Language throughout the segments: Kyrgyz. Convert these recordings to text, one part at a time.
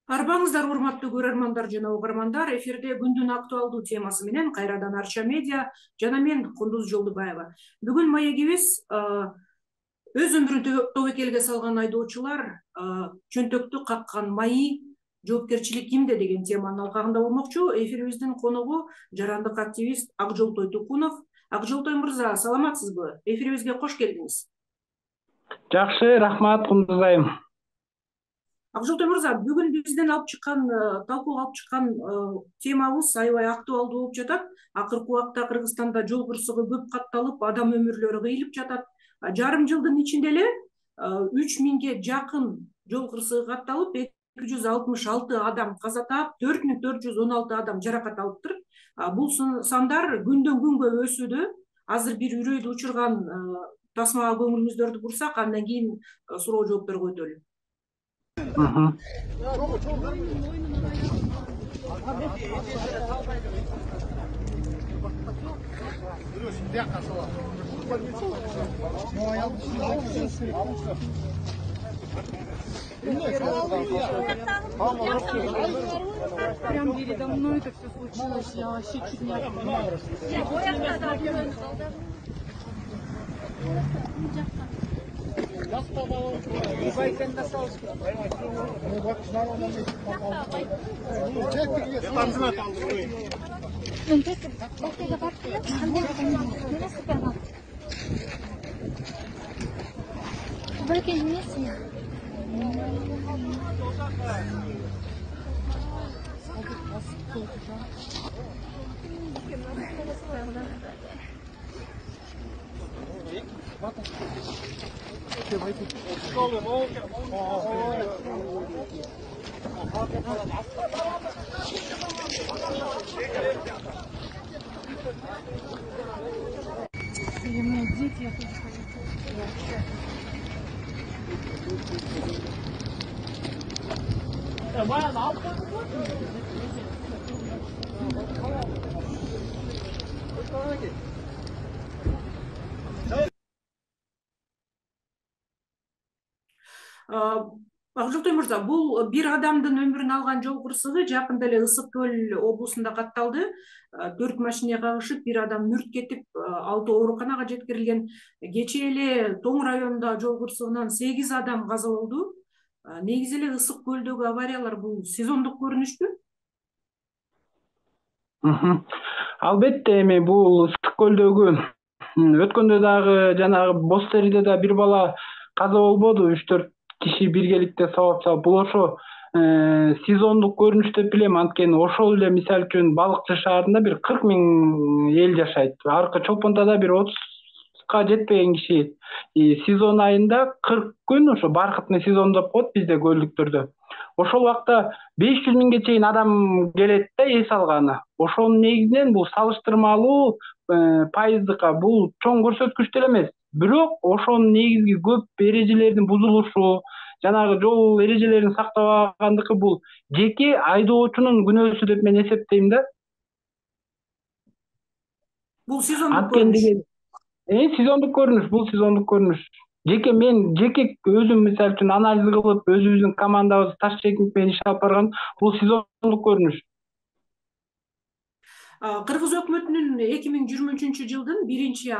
Арбаңыздар, урматтуу көрөрмандар жана угармандар. Эфирде күндүн актуалдуу темасы менен кайрадан Арча медиа жана мен Кундуз Жолдубаева. Бүгүн маегибиз өз өмүрүн тобокелге салган айдоочулар чөнтөктү каккан майы жоопкерчилик кимде деген теманын алкагында болмокчу. Эфирибиздин коногу жарандык активист Акжолтой Тукунов. Акжолтой мырза, саламатсызбы? Эфирибизге кош келдиңиз. Жакшы, рахмат Кундуз айым. Акжолтой мырза, бүгүн бизден талкууга алып чыккан темабыз аябай актуалдуу болуп жатат. Акыркы убакта Кыргызстанда жол кырсыгы көп катталып, адам өмүрлөрү кыйылып жатат. Жарым жылдын ичинде эле 3000ге жакын жол кырсыгы катталып, 266 адам каза таап, 4416 адам жаракат алыптыр. Бул сандар күндөн күнгө өсүүдө. Азыр бир үрөйдү учурган тасмага көңүлүңүздөрдү бурсак, андан кийин суроо жоопторго өтөлү. Прям передо мной это все случилось, я вообще чуть не отпала. Дети, я тоже хочу. Акжолтой мырза, бул бир адамдын өмүрүн алган жол кырсыгы жакында эле Ысык көл облусунда катталды. 4 машина кагышып, бир адам мүрт кетип, 6 ооруканага жеткирилген. Кечээ эле Тоң районундагы жол кырсыгынан 8 адам каза болду. Негизи эле Ысык көлдөгү авариялар бул сезондук көрүнүшпү? Албетте, эми бул Ысык көлдөгү өткөндө дагы жанагы Боз Териде да бир бала каза болбоду? 3-4 киши биргеликте сабап салып, бул ошо сезондук көрүнүш деп билем. Анткени ошол эле мисалы үчүн Балыкчы шаарында бир 40 000 эл жашайт. Аркы Чолпонтада бир 30га жетпеген киши. Сезон айында 40 күн ошо баркытный сезон деп коет бизде көлдүктөрдө. Ошол убакта 500 000ге чейин адам келет да эс алганы. Ошонун негизинен бул салыштырмалуу пайыздыкка бул чоң көрсөткүч деле эмес. Бирок ошонун негизги көп эрежелердин бузулушу, жанагы жол эрежелерин сактабагандыгы бул жеке айдоочунун күнөөсү деп мен эсептейм да. Бул сезондук көрүнүш. Сезондук көрүнүш, бул сезондук көрүнүш. Мен өзүм мисалы үчүн анализ кылып, өзүбүздүн командабыз таш чекинг менен иш алып барган, бул сезондук көрүнүш. Кыргыз өкмөтүнүн 2023 жылдын 1-6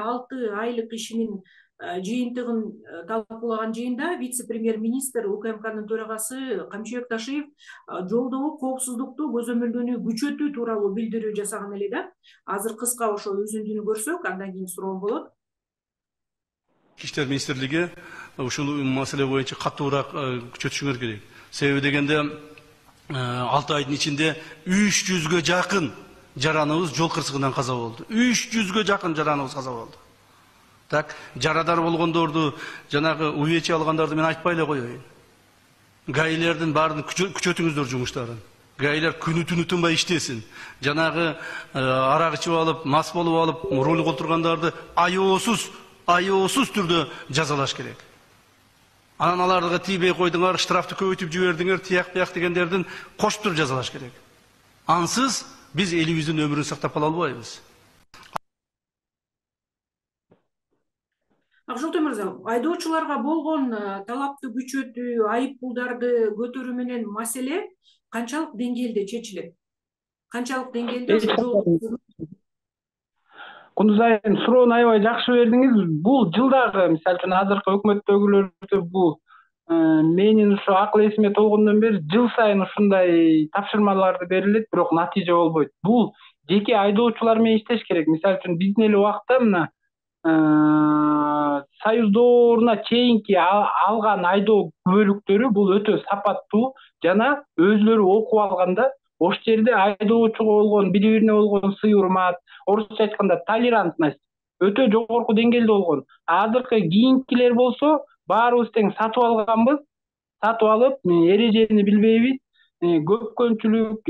айлык ишинин жыйынтыгын талкуулаган жыйында вице-премьер-министр УКМКнын төрагасы Камчыбек Ташиев жолдогу коопсуздукту көзөмөлдөөнү күчөтүү тууралуу билдирүү жасаган эле да. Азыр кыска ошо үзүндүнү көрсөк, андан кийин суроом болот. Ички иштер министрлиги ушул маселе боюнча катуураак күчөтүшүңөр керек. Себеби дегенде 6 айдын ичинде 300ге жакын жараныбыз жол кырсыгынан каза болду. 300ге жакын жараныбыз каза болду. Так, жарадар болгондорду, жанагы увечье алгандарды мен айтпай эле коеюн. Гаилердин баарын күчөтүңүздөр жумуштарын. Гаилер күнү түнү тынбай иштесин. Жанагы арак ичип алып, мас болуп алып, руль колтургандарды аяосуз түрдө жазалаш керек. Анан аларга тийбей койдуңар, штрафты көбөйтүп жибердиңер, тияк бияк дегендердин кошуп туруп жазалаш керек. Ансыз биз элибиздин өмүрүн сактап кала албайбыз. Акжолтой мырза, айдоочуларга болгон талапты күчөтүү, айып пулдарды көтөрүү менен маселе канчалык деңгээлде чечилет? Канчалык деңгээлде ошо жол? Кундуз айым, суроону аябай жакшы бердиңиз. Бул жылдагы, мисалы үчүн азыркы өкмөттөгүлөрдө бул менин ушу акыл эсиме толгондон бери жыл сайын ушундай тапшырмаларды берилет, бирок натыйжа болбойт. Бул жеке айдоочулар менен иштеш керек. Мисалы үчүн биздин эле убакта мына Союз дооруна чейинки алган айдоо күбөлүктөрү бул өтө сапаттуу жана өзүлөрү окуп алганда ошол жерде айдоочуга болгон бири-бирине болгон сый урмат, орусча айтканда толерантность өтө жогорку деңгээлде болгон. Азыркы кийинкилер болсо баарыбыз тең сатып алганбыз, сатып алып эрежени билбейбиз, көпкөнчүлүк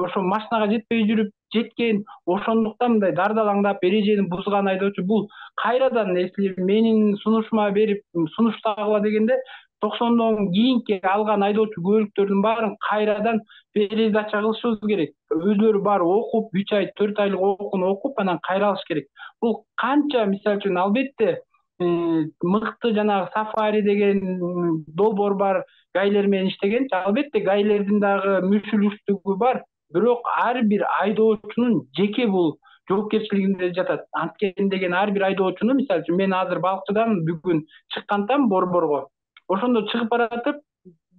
ошо машинага жетпей жүрүп жеткен, ошондуктан мындай дардалаңдап эрежени бузган айдоочу бул кайрадан если менин сунушума берип сунуштагыла дегенде 90дон кийинки алган айдоочу күбөлүктөрдүн баарын кайрадан пересдача кылышыбыз керек. Өзүлөрү баары окуп, 3 ай, 4 айлык окууну окуп, анан кайра алыш керек. Бул канча мисалы үчүн албетте мыкты жанагы сафари деген долбоор бар, гайлер менен иштеген. Албетте гайлердин дагы мүшүлүштүгү бар, бирок ар бир айдоочунун жеке бул жоопкерчилигинде жатат. Анткени деген ар бир айдоочуну, мисалы үчүн мен азыр балыкчыдамын, бүгүн чыккантам Борборго. Ошондо чыгып баратып,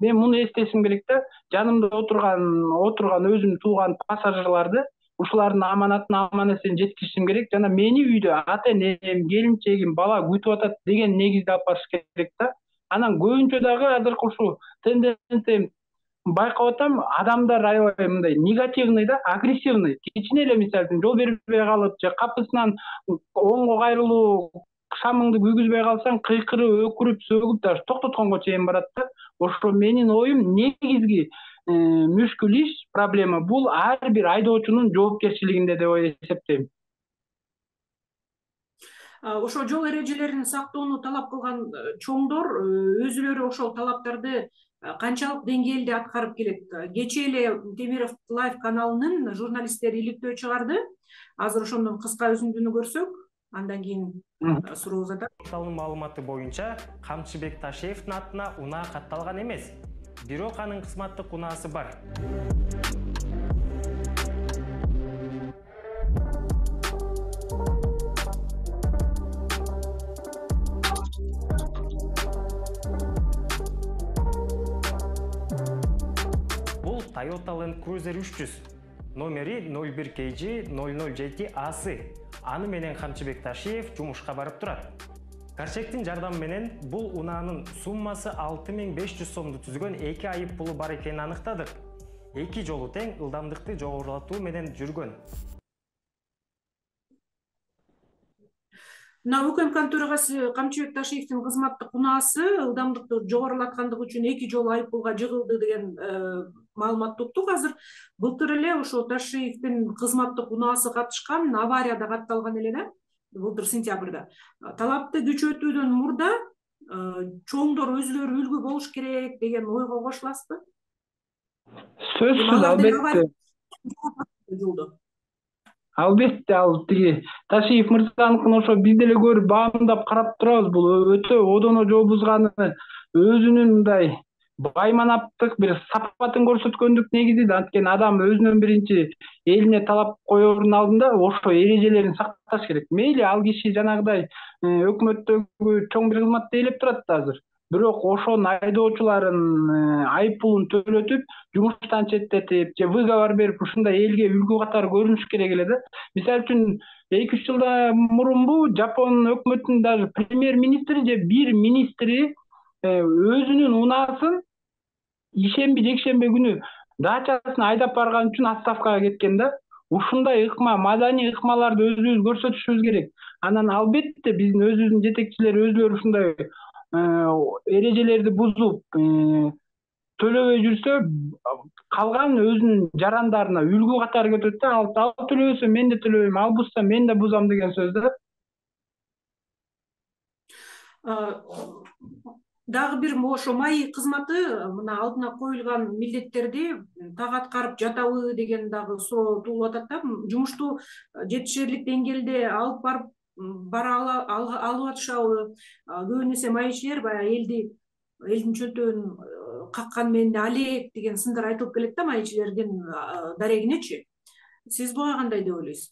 мен муну эстешим керек да, жанымда отурган өзүмдүн тууган пассажирларды, ушулардын аманатын аман-эсен жеткиришим керек жана мени үйдө ата-энем, келинчегим, бала күтүп атат деген негизде алып барыш керек да. Анан көбүнчө дагы азыркы ушул тенденция байкап атам, адамдар аябай мындай негативный да, агрессивный. Кичине эле мисалы үчүн жол бербей калып, же капысынан оңго кайрылуу шамыңды күйгүзбөй калсаң, кыйкырып, өкүрүп, сөгүп даже токтотконго чейин барат да. Ошо менин оюм негизги мүшкүл иш, проблема бул ар бир айдоочунун жоопкерчилигинде деп эсептейм. Ошо жол эрежелерин сактоону талап кылган чоңдор өзүлөрү ошол талаптарды канчалык деңгээлде аткарып келет? Кечээ эле Темиров Лайв каналынын журналисттери иликтөө чыгарды. Азыр ошондон кыска үзүндүнү көрсөк, андан кийин суроо узатат. Порталдын маалыматы боюнча Камчыбек Ташиевдин атына унаа катталган эмес. Бирок анын кызматтык унаасы бар. Бул Toyota Land Cruiser 300, номери 01KG007AC. Аны менен Камчыбек Ташиев жумушка барып турат. Карчектин жардамы менен бул унаанын суммасы 6500 сомду түзгөн 2 айып пулу бар экенин аныктадык. 2 жолу тең ылдамдыкты жогорулатуу менен жүргөн. Мына УКМК төрагасы Камчыбек Ташиевдин кызматтык унаасы ылдамдыкты жогорулаткандыгы үчүн 2 жолу айып пулга жыгылды деген маалыматты уктук. Азыр былтыр эле ошо Ташиевдин кызматтык унаасы катышкан аварияда катталган эле да. Былтыр сентябрда. Талапты күчөтүүдөн мурда чоңдор өзүлөрү үлгү болуш керек деген ойго кошуласызбы? Сөзсүз, албетте. Албетте, ал тиги Ташиев мырзаныкын ошо биз деле көрүп баамдап карап турабыз. Бул өтө одоно жол бузганы, өзүнүн мындай байманаптык бир сапатын көрсөткөндүк негизи да. Анткени адам өзүнөн биринчи элине талап коердун алдында ошо эрежелерин сакташ керек. Мейли ал киши жанагыдай өкмөттөгү чоң бир кызматты ээлеп турат да азыр. Бирок ошонун айдоочуларын айып пулун төлөтүп, жумуштан четтетип, же выговор берип, ушундай элге үлгү катары көрүнүш керек эле да. Мисалы үчүн 2-3 жылда мурунбу Жапон өкмөтүнүн даже премьер-министри же бир министри өзүнүн унаасын ишемби жекшемби күнү дачасын айдап барган үчүн отставкага кеткен да. Ушундай ыкма, маданий ыкмаларды өзүбүз көрсөтүшүбүз керек. Анан албетте биздин өзүбүздүн жетекчилер өзүлөрү ушундай эрежелерди бузуп төлөбөй жүрсө, калган өзүнүн жарандарына үлгү катары кетет да. Ал төлөбөсө мен да төлөбөйм, ал бузса мен да бузам деген сөз да. Дагы бир ошо МАИ кызматы мына алдына коюлган милдеттерди так аткарып жатабы деген дагы суроо туулуп атат да. Жумушту жетишерлик деңгээлде алып барып алып атышабы? Көбүнесе МАИчилер баягы элдин чөнтөгүн каккан менен алек деген сындар айтылып келет да майчилердин дарегинечи. Сиз буга кандай деп ойлойсуз?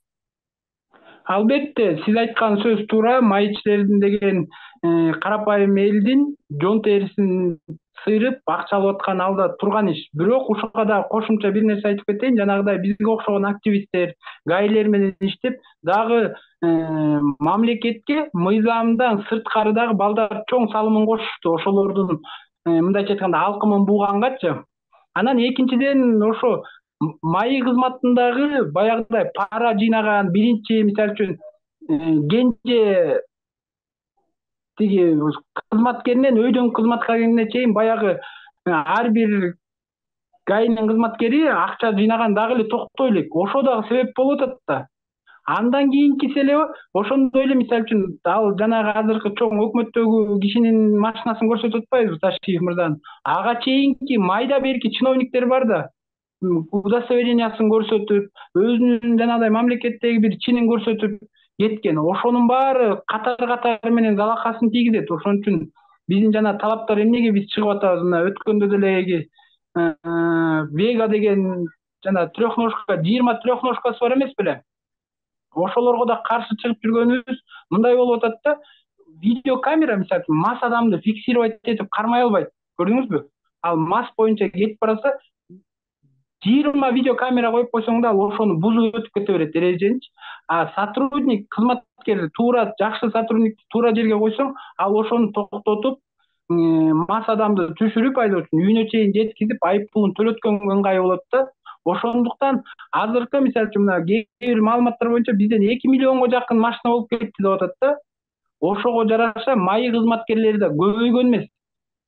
Албетте, сиз айткан сөз туура. Майчилердин деген карапайым элдин жон терисин сыйрып акча алып аткан алда турган иш. Бирок ушуга да кошумча бир нерсе айтып кетейин. Жанагыдай бизге окшогон активисттер, гаилер менен иштеп, дагы мамлекетке мыйзамдан сырткары дагы балдар чоң салымын кошушту. Ошолордун мындайча айтканда алкымын буугангачы. Анан экинчиден ошо майы кызматындагы баягыдай пара жыйнаган биринчи, мисалы үчүн кенже тиги кызматкеринен өйдөн кызматкерине чейин баягы ар бир гаинин кызматкери акча жыйнаган дагы эле токтой элек. Ошо дагы себеп болуп атат да. Андан кийинкиси эле ошондой эле, мисалы үчүн ал жанагы азыркы чоң өкмөттөгү кишинин машинасын көрсөтүп атпайбызбы, Ташиев мырзанын. Ага чейинки майда берки чиновниктер бар да. Удостоверениясын көрсөтүп, өзүнүн жанагыдай мамлекеттеги бир чинин көрсөтүп кеткен. Ошонун баары катар менен залакасын тийгизет. Ошон үчүн биздин жана талаптар эмнеге биз чыгып атабыз? Мына өткөндө делеги Вега деген жана трехножка, 20 трехножкасы бар эмес беле? Ошолорго да каршы чыгып жүргөнүбүз мындай болуп атат да. Видеокамера мисалы мас адамды фиксировать этип кармай албайт. Көрдүңүзбү? Ал мас боюнча кетип барса 20 видеокамера коюп койсоң да, ал ошону бузуп өтүп кете берет эреженичи. А сотрудник, кызматкер туура, жакшы сотрудникти туура жерге койсоң, ал ошону токтотуп, мас адамды түшүрүп айдоочунун үйүнө чейин жеткизип, айып пулун төлөткөнгө ыңгай болот да. Ошондуктан азыркы мисалы үчүн мына кээ бир маалыматтар боюнча бизден 2 миллионго жакын машина болуп кетти деп атат да. Ошого жараша майы кызматкерлери да көбөйгөн эмес.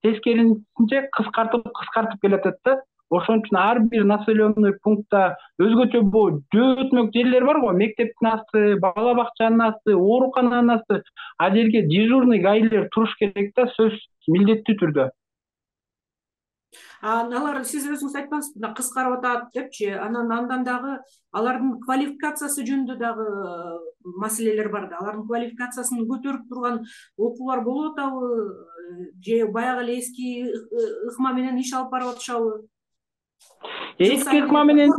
Тескерисинче кыскартып келатат да. Ошон үчүн ар бир населенный пунктта өзгөчө жөөтмөк жерлер бар го, мектептин асты, бала бакчанын асты, оорукананын асты. Ал жерге дежурный гаилер туруш керек да, сөзсүз милдеттүү түрдө. Алар сиз өзүңүз айтпаңызбы, мына кыскарып атат депчи, андан дагы алардын квалификациясы жөнүндө дагы маселелер бар да. Алардын квалификациясын көтөрүп турган окуулар болуп атабы, же баягы эле эски ыкма менен иш алып барып атышабы? Эски ыкма менен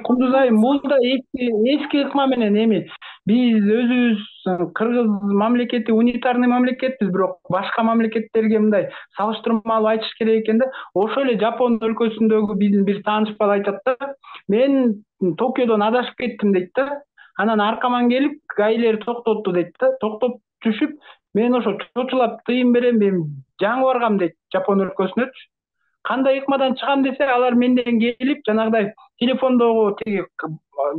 Кундуз айым, бул да эски ыкма менен эми. Биз өзүбүз Кыргыз мамлекети унитарный мамлекетпиз, бирок башка мамлекеттерге мындай салыштырмалуу айтыш керек экен да. Ошо эле Жапон өлкөсүндөгү биздин бир тааныш бала айтат да. Мен Токиодон адашып кеттим дейт да. Анан аркаман келип, гаилер токтотту дейт да. Токтоп түшүп, мен ошо чочулап тыйын берем, мен жаңы баргам дейт Жапон өлкөсүнөчү. Кандай ыкмадан чыгам десе, алар менден келип, жанагыдай телефондогу тиги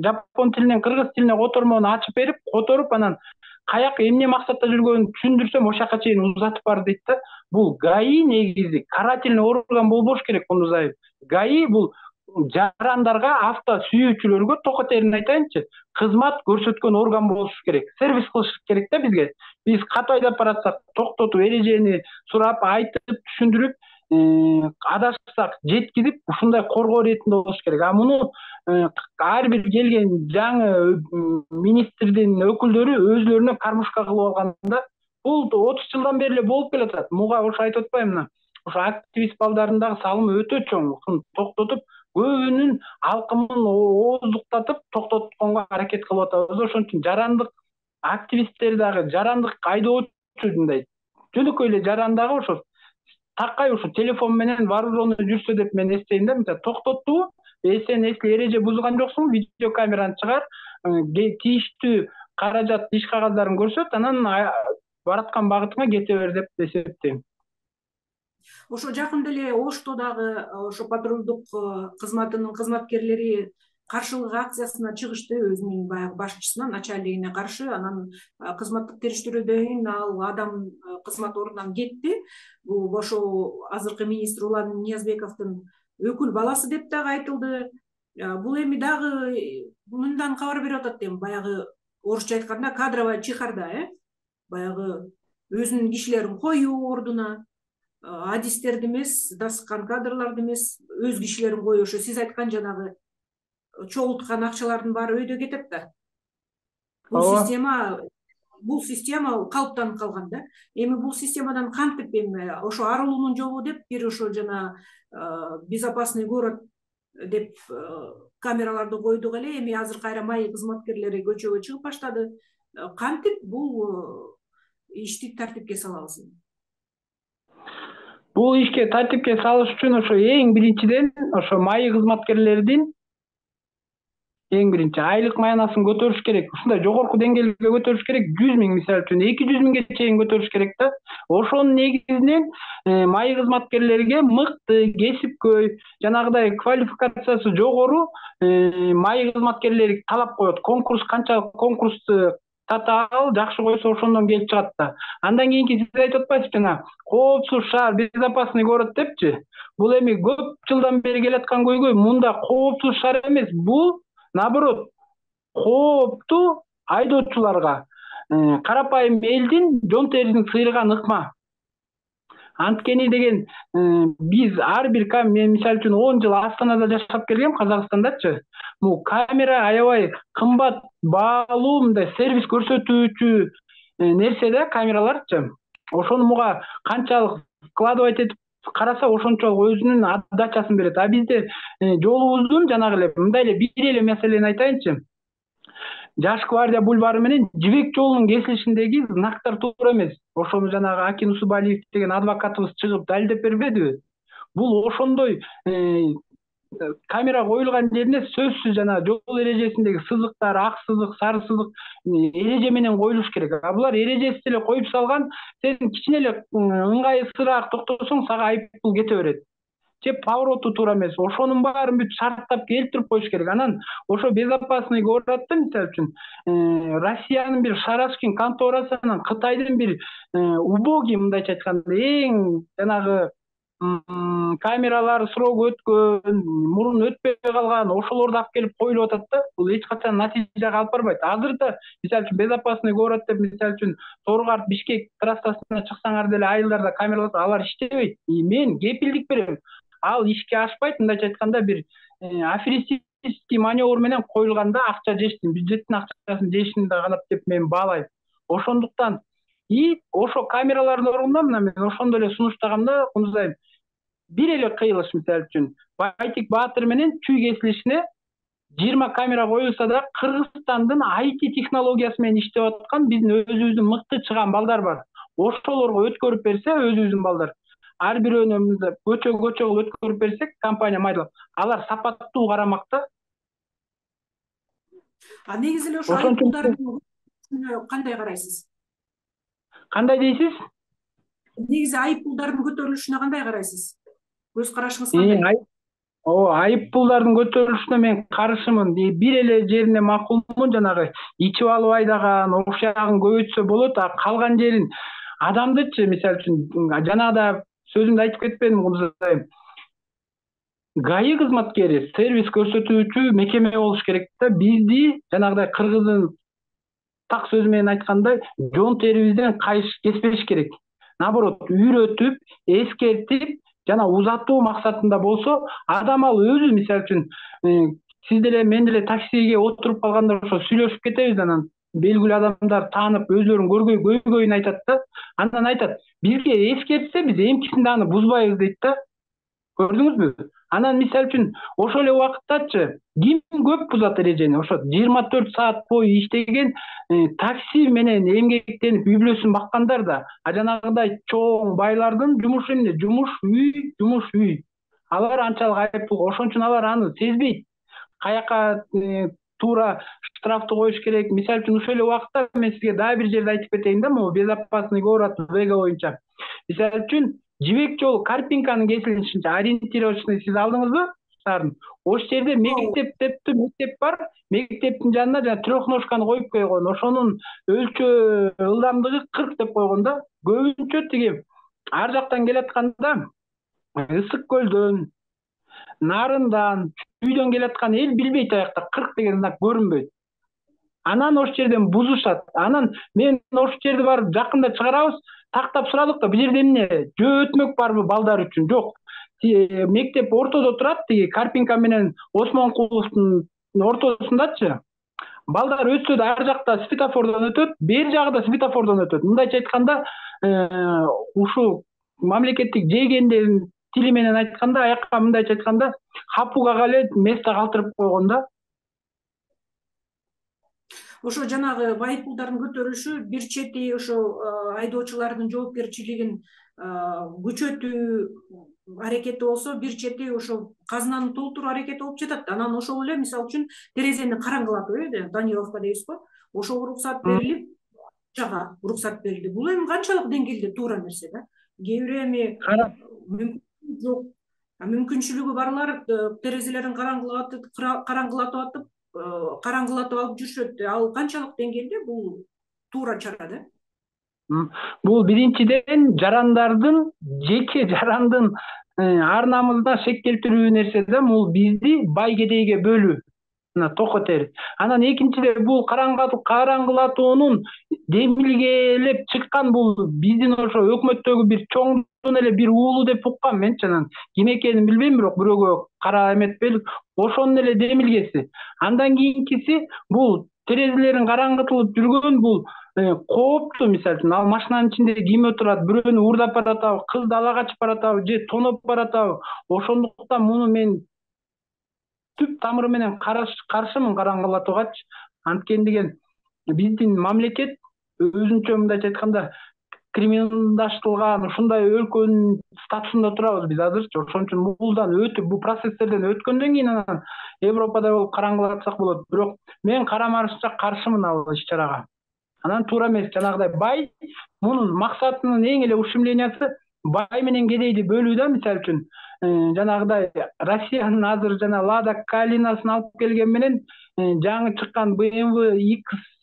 жапон тилинен кыргыз тилине котормону ачып берип, которуп, анан каяка эмне максатта жүргөнүн түшүндүрсөм, ошол жака чейин узатып бар дейт да. Бул ГАИ негизи карательный орган болбош керек, Кундуз айым. ГАИ бул жарандарга, авто сүйүүчүлөргө, токотерин айтайынчы, кызмат көрсөткөн орган болуш керек. Сервис кылыш керек да бизге. Биз кат айдап баратсак, токтотуп, эрежени сурап, айтып, түшүндүрүп, адашсак жеткизип, ушундай коргоо иретинде болуш керек. А муну ар бир келген жаңы министрдин өкүлдөрү өзлөрүнө кармушка кылып алганда, бул 30 жылдан бери эле болуп келатат. Муга ошо айтып атпаймынбы? Ошо активист балдардын дагы салымы өтө чоң. Ушуну токтотуп, көбүнүн алкымын ооздуктатып токтотконго аракет кылып атабыз. Ошон үчүн жарандык активисттер дагы, жарандык айдоочу мындай жөнөкөй эле жаран дагы ошо такай ушу телефон менен вооруженный жүрсө деп мен эстейм да. Мисалы токтоттубу? Сен эсли эреже бузган жоксуңбу? Видеокамераны чыгар, тийиштүү каражат, иш кагаздарын көрсөт, анан бараткан багытыңа кете бер деп эсептейм. Ошо жакында эле Ошто дагы ошо патрулдук кызматынын кызматкерлери каршылык акциясына чыгышты, өзүнүн баягы башчысына, начальнигине каршы. Анан кызматтык териштирүүдөн кийин ал адам кызмат ордунан кетти. Бул ошо азыркы министр Улан Ниязбековдун өкүл баласы деп дагы айтылды. Бул эми дагы мындан кабар берип атат эми, баягы орусча айтканда кадровая чехарда, баягы өзүнүн кишилерин коюу ордуна, адистерди эмес, дасыккан кадрларды эмес, өз кишилерин коюу. Ошо сиз айткан жанагы чогулткан акчалардын баары өйдө кетет да. Бул система бул система калыптанып калган да. Эми бул системадан кантип эми ошо арылуунун жолу деп бир ошо жана безопасный город деп камераларды койдук эле. Эми азыр кайра МАИ кызматкерлери көчөгө чыгып баштады. Кантип бул ишти тартипке салабыз? Бул ишке тартипке салыш үчүн ошо эң биринчиден ошо МАИ кызматкерлердин эң биринчи айлык маянасын көтөрүш керек. Ушундай жогорку деңгээлге көтөрүш керек. 100 000 мисалы үчүн 200 000ге чейин көтөрүш керек да. Ошонун негизинен МАИ кызматкерлерге мыкты, кесипкөй, жанагыдай квалификациясы жогору МАИ кызматкерлери талап коет. Конкурс канчалык конкурсту татаал жакшы койсо ошондон келип чыгат да. Андан кийинки сиз айтып атпайсызбы жана коопсуз шаар, безопасный город депчи. Бул эми көп жылдан бери келаткан көйгөй. Мында коопсуз шаар эмес, бул наоборот, кооптуу айдоочуларга, карапайым элдин жон терисин сыйрыган ыкма. Анткени деген биз ар бир мен мисалы үчүн 10 жыл Астанада жашап келгем, Казакстандачы. Бул камера аябай кымбат баалуу мындай сервис көрсөтүүчү нерсе да, камераларчы. Ошону муга канчалык складывать этип караса ошончолук өзүнүн отдачасын берет. А бизде жолубуздун жанагы эле мындай эле бир эле маселени айтайынчы. Жаш гвардия бульвары менен Жибек жолунун кесилишиндеги знактар туура эмес. Ошону жанагы Акин Усубалиев деген адвокатыбыз чыгып далилдеп бербедиби? Бул ошондой камера коюлган жерине сөзсүз жана жол эрежесиндеги сызыктар, ак сызык, сары сызык эреже менен коюлуш керек. А булар эрежесиз эле коюп салган, сен кичине эле ыңгайсызыраак токтосоң сага айыппул кете берет. Же повороту туура эмес. Ошонун баарын бүт шарттап келтирип коюш керек. Анан ошо безопасный городто мисалы үчүн Россиянын бир Шарашкин конторасы анан Кытайдын бир убогий мындайча айтканда эң жанагы камералары срок өткөн, мурун өтпөй калган, ошолорду алып келип коюлуп атат да. Бул эч качан натыйжага алып барбайт. Азыр да мисалы үчүн безопасный город деп мисалы үчүн Торгарт Бишкек трассасына чыксаңар деле айылдарда камералар алар иштебейт. Мен кепилдик берем. Ал ишке ашпайт, мындайча айтканда бир аферистический маневр менен коюлганда акча жештин, бюджеттин акчасын жешин да канат деп мен баалайм. Ошондуктан ошо камералардын ордуна мен ошондо эле сунуштаганда кумсайм. Бир эле кыйылыш мисалы үчүн Байтик Баатыр менен Чүй кесилишине 20 камера коюлса да Кыргызстандын IT технологиясы менен иштеп аткан биздин өзүбүздүн мыкты чыган балдар бар. Ошолорго өткөрүп берсе өзүбүздүн балдар, ар бирөөнү көчө өткөрүп берсек, компания майдалап, алар сапаттуу карамакта. А негизи эле ошо айыппулдардын кандай карайсыз? Кандай дейсиз? Негизи айыппулдардын көтөрүлүшүнө кандай карайсыз? Көз карашыңыз кандай? Айыппулдардын көтөрүлүшүнө мен каршымын. Бир эле жерине макулмун, жанагы ичип алып айдаган, окшагын көбөйтсө болот, а калган жерин адамдычы мисалы үчүн жанагыда сөзүмдү айтып кетпедим кумсайм. ГАИ кызматкери сервис көрсөтүүчү мекеме болуш керек да. Бизди жанагыдай кыргыздын так сөзү менен айтканда жон терибизден кеспеш керек. Наоборот, үйрөтүп, эскертип, жана узатуу максатында болсо, адам ал өзү мисалы үчүн сиз деле мен деле таксиге отуруп калганда ошо сүйлөшүп кетебиз, анан белгилүү адамдар таанып өзлөрүнүн көйгөйүн айтат да. Андан айтат, бизге эскертсе биз эмкисинде аны бузбайбыз дейт да. Көрдүңүзбү? Анан мисалы үчүн ошол эле убакыттачы ким көп бузат эрежени? Ошо 24 саат бою иштеген такси менен эмгектенип үй-бүлөсүн баккандар да. А жанагыдай чоң байлардын жумушу эмне? Жумуш үй. Алар анчалык айыппул, ошон үчүн алар аны сезбейт. Каяка туура штрафты коюш керек. Мисалы үчүн ошол эле убакытта мен сизге дагы бир жерде айтып кетейин да, могу безопасный город Вега боюнча. Мисалы үчүн Жибек жолу Карпинканын кесилишинче ориентировочный сиз алдыңызбы? Шаардын. Ошол жерде мектеп бар. Мектептин жанына жана трехножканы коюп койгон. Ошонун өлчөө ылдамдыгы 40 деп койгон да. Көбүнчө тиги ар жактан келатканда Ысык көлдөн, Нарындан, Чүйдөн келаткан эл билбейт аякта 40 деген знак көрүнбөйт. Анан ошол жерден бузушат. Анан мен ошол жерди барып жакында чыгарабыз. Тактап сурадык да, бул жерде эмне? Жөө өтмөк барбы балдар үчүн? Жок. Мектеп ортодо турат, тиги Карпинка менен Осмонкуловдун ортосундачы. балдар өтсө да ар жакта светофордон өтөт, бери жагы да светофордон өтөт. Мындайча айтканда, ушул мамлекеттик жейгендердин тили менен айтканда, аякка мындайча айтканда, хапугага эле место калтырып койгон да. Ошо жанагы байыппулдардын көтөрүлүшү бир чети ошо айдоочулардын жоопкерчилигин күчөтүү аракети болсо, бир чети ошо казынаны толтуруу аракети болуп жатат. Анан ошол эле мисалы үчүн терезени караңгылатуу, тонировка дейбизго, ошого уруксат берилип, жага уруксат берилди. Бул эми канчалык деңгээлде туура нерсе да? Кээ бирөө эми жок, мүмкүнчүлүгү барлар терезелерин караңгылатып атып алып жүрүшөт. Ал канчалык деңгээлде бул туура чара да? Бул биринчиден жарандардын, жеке жарандын ар намысына шек келтирүү нерсе да. Бул бизди бай кедейге бөлүү токотер. Анан экинчиден бул караңгылатуунун демилгелеп чыккан бул биздин ошо өкмөттөгү бир чоңдун эле бир уулу деп уккам менчи. Анан ким экенин билбейм, бирок бирөөгө кара эметпелик ошонун эле демилгеси. Андан кийинкиси бул терезелерин караңгытылып жүргөн бул кооптуу. Мисалы үчүн ал машинанын ичинде ким отурат, бирөөнү уурдап баратабы, кызды ала качып баратабы же тоноп баратабы. Ошондуктан муну мен түп тамыры менен каршымын караңгылатуугачы. Анткени биздин мамлекет өзүнчө мындайча айтканда криминалдаштырылган ушундай өлкөнүн статусунда турабыз биз азырчы. Ошон үчүн булдан өтүп, бул процесстерден өткөндөн кийин анан Европада болуп караңгылатсак болот. Бирок мен карамарышча каршымын ал иш-чарага. Анан туура эмес. Жанагыдай бай мунун максатынын эң эле ушемлениясы бай менен кедейди бөлүү да. Мисалы үчүн жанагыдай Россиянын азыр жана Лада Калинасын алып келген менен жаңы чыккан BMW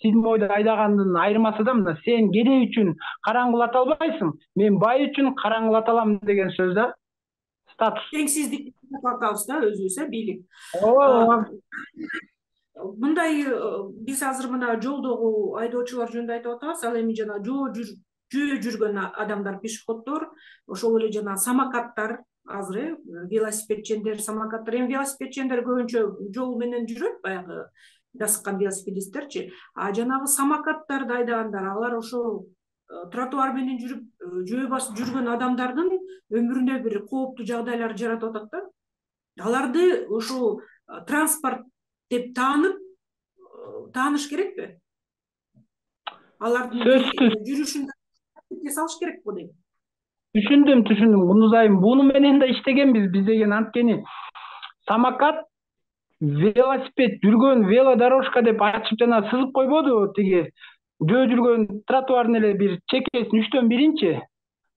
X7 айдагандын айырмасы да мына: сен кедей үчүн караңгылата албайсың, мен бай үчүн караңгылата алам деген сөз да. Статус. Теңсиздик тартабыз да өзүбүз, бийлик. Ооба. Мындай биз азыр мына жолдогу айдоочулар жөнүндө айтып атабыз. Ал эми жана жөө жүргөн адамдар, пешеходдор, ошол эле жана самокаттар, азыр велосипедчендер, самокаттар. Эми велосипедчендер көбүнчө жол менен жүрөт, баягы дасыккан велосипедисттерчи. А жанагы самокаттарды айдагандар, алар ошол тротуар менен жүрүп жөө басып жүргөн адамдардын өмүрүнө бир кооптуу жагдайлар жаратып атат да. Аларды ошол транспорт деп тааныш керекпи? Алардын жүрүшүн салыш керек го дейм. Түшүндүм. Мунузайым, буну менен да иштегенбиз биз деген. Анткени самокат, велосипед жүргөн велодорожка деп ачып жана сызып койбодубу тиги жөө жүргөн тротуардын эле бир чекесин 3/1.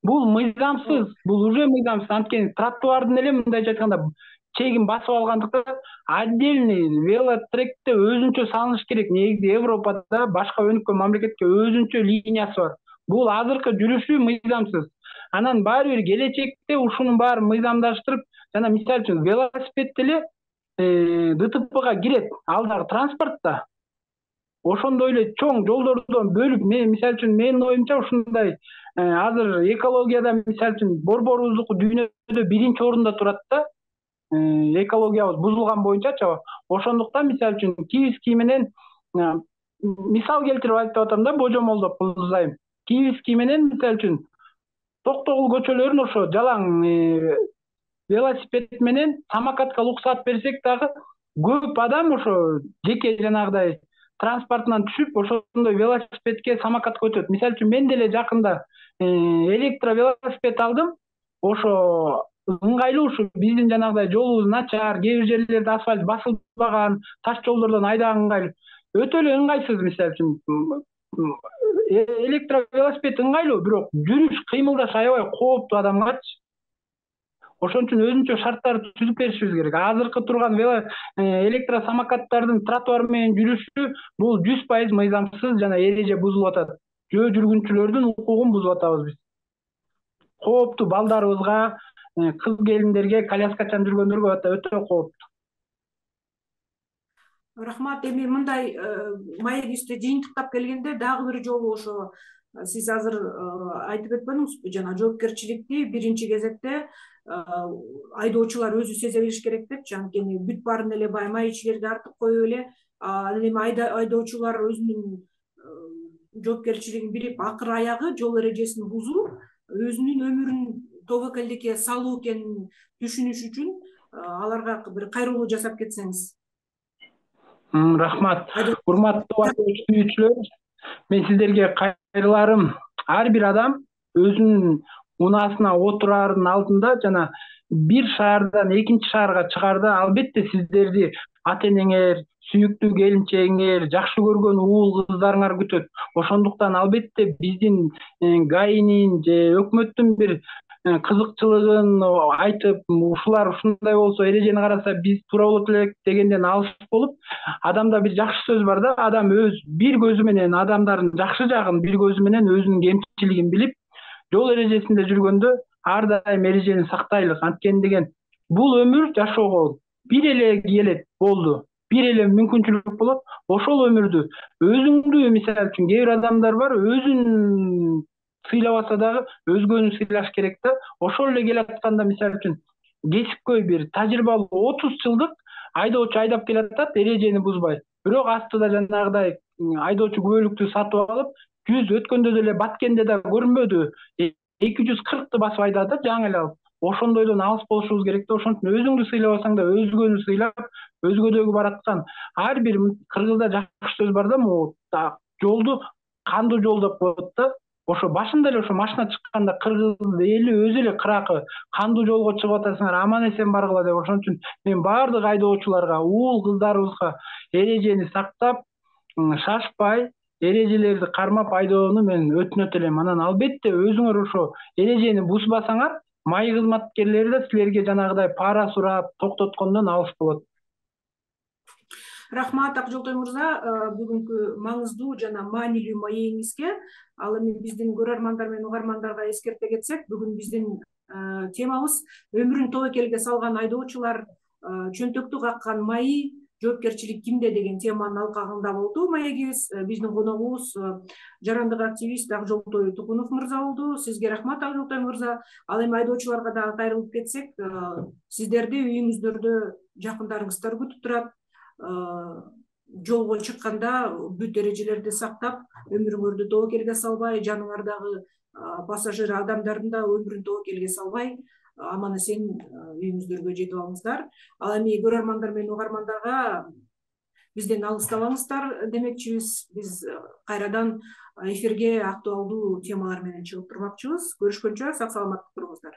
Бул мыйзамсыз, бул уже мыйзамсыз. Анткени тротуардын эле мындайча айтканда чегин басып алгандыктан отдельный велотректе өзүнчө салыныш керек. Негизи Европада башка өнүккөн мамлекетке өзүнчө линиясы бар. Бул азыркы жүрүшү мыйзамсыз. Анан баары бир келечекте ушунун баарын мыйзамдаштырып, жана мисалы үчүн велосипед эле ДТПга кирет, ал дагы транспортта. Ошондой эле чоң жолдордон бөлүп, мисалы үчүн менин оюмча ушундай азыр экологияда мисалы үчүн борборубуздуку дүйнөдө биринчи орунда турат да. Экологиябыз бузулган боюнчачы. Ошондуктан мисалы үчүн Киевский менен мисал келтирип айтып атам да, божомолдоп кылзайым. Киевский менен мисалы үчүн Токтогул көчөлөрүн ошо жалаң велосипед менен самокатка уруксат берсек дагы көп адам ошо жеке жанагыдай транспортунан түшүп ошондой велосипедке, самокатка өтөт. Мисалы үчүн мен деле жакында электровелосипед алдым. Ошо ыңгайлуу, ушу биздин жанагыдай жолубуз начар, кээ бир жерлерде асфальт басылбаган, таш жолдордон айдаган ыңгайлуу. Өтө эле ыңгайсыз. Мисалы үчүн электровелосипед ыңгайлуу, бирок жүрүш, кыймылдаш аябай кооптуу адамгачы. Ошон үчүн өзүнчө шарттарды түзүп беришибиз керек. Азыркы турган электросамокаттардын тротуар менен жүрүшү бул 100% мыйзамсыз жана эреже бузулуп атат. Жөө жүргүнчүлөрдүн укугун бузуп атабыз биз. Кооптуу балдарыбызга, кыз келиндерге, коляскачан жүргөндөргө өтө кооптуу. Рахмат. Эми мындай маегибизди жыйынтыктап келгенде дагы бир жолу ошо сиз азыр айтып өткөнүңүзбү, жана жоопкерчиликти биринчи кезекте айдоочулар өзү сезе билиш керек депчи. Анткени бүт баарын эле баймай ичкерге артып коюп эле Анан эми айдоочулар өзүнүн жоопкерчилигин билип акыр аягы жол эрежесин бузуп өзүнүн өмүрүн тобокелдикке салуу экенин түшүнүш үчүн аларга бир кайрылуу жасап кетсеңиз. Рахмат. Урматтуу сүйүүчүлөр, мен сиздерге кайрыларым. Ар бир адам өзүнүн унаасына отурардын алдында жана бир шаардан экинчи шаарга чыгаарда албетте сиздерди ата энеңер, сүйүктүү келинчегиңер, жакшы көргөн уул кыздарыңар күтөт. Ошондуктан албетте биздин ГАИнин же өкмөттүн бир кызыкчылыгын айтып, ушулар ушундай болсо, эрежени караса биз туура болот элек дегенден алыс болуп, адамда бир жакшы сөз бар да, адам өз бир көзү менен адамдардын жакшы жагын, бир көзү менен өзүнүн кемчилигин билип, жол эрежесинде жүргөндө ар дайым эрежени сактайлык. Анткени деген бул өмүр жашоого бир эле келет, болду. Бир эле мүмкүнчүлүк болот. Ошол өмүрдү өзүңдү, мисалы үчүн кээ бир адамдар бар, өзүн сыйлабаса дагы өзгөнү сыйлаш керек да. Ошол эле келатканда, мисалы үчүн кесипкөй бир тажрыйбалуу 30 жылдык айдоочу айдап келатат, эрежени бузбай. Бирок астыда жанагыдай айдоочу күбөлүктү сатып алып, 100 өткөндө деле Баткенде да көрүнбөдү. 240ты басып айдады да, жаңы эле алып. Ошондойдон алыс болушубуз керек да. Ошон үчүн өзүңдү сыйлабасаң да өзгөнү сыйлап, өзгөдөгү бараткан. Ар бир кыргызда жакшы сөз бар да, могу жолду кандуу жол деп коет да. Ошо башында эле ошо машина чыкканда кыргыз эли өзү эле кыракы кандуу жолго чыгып атасыңар, аман эсен баргыла деп. Ошон үчүн мен баардык айдоочуларга, уул кыздарыбызга эрежени сактап, шашпай, эрежелерди кармап айдоону мен өтүнөт элем. Анан албетте өзүңөр ошо эрежени бузбасаңар, май кызматкерлери да силерге жанагыдай пара сурап токтоткондон алыс болот. Рахмат Акжолтой мырза, бүгүнкү маңыздуу жана маанилүү маегиңизге. Ал эми биздин көрөрмандар менен угармандарга эскерте кетсек, бүгүн биздин темабыз өмүрүн тобокелге салган айдоочулар чөнтөктү каккан майы, жоопкерчилик кимде деген теманын алкагында болду маегибиз. Биздин коногубуз жарандык активист Акжолтой Тукунов мырза болду. Сизге рахмат Акжолтой мырза. Ал эми айдоочуларга дагы кайрылып кетсек, сиздерди үйүңүздөрдө жакындарыңыздар күтүп турат. Жолго чыкканда бүт эрежелерди сактап, өмүрүңөрдү тобокелге салбай, жаныңардагы пассажир адамдардын да өмүрүн тобокелге салбай, аман эсен үйүңүздөргө жетип алыңыздар. Ал эми көрөрмандар менен угармандарга бизден алыстабаңыздар демекчибиз. Биз кайрадан эфирге актуалдуу темалар менен чыгып турмакчыбыз. Көрүшкөнчө сак саламаттык туруңуздар.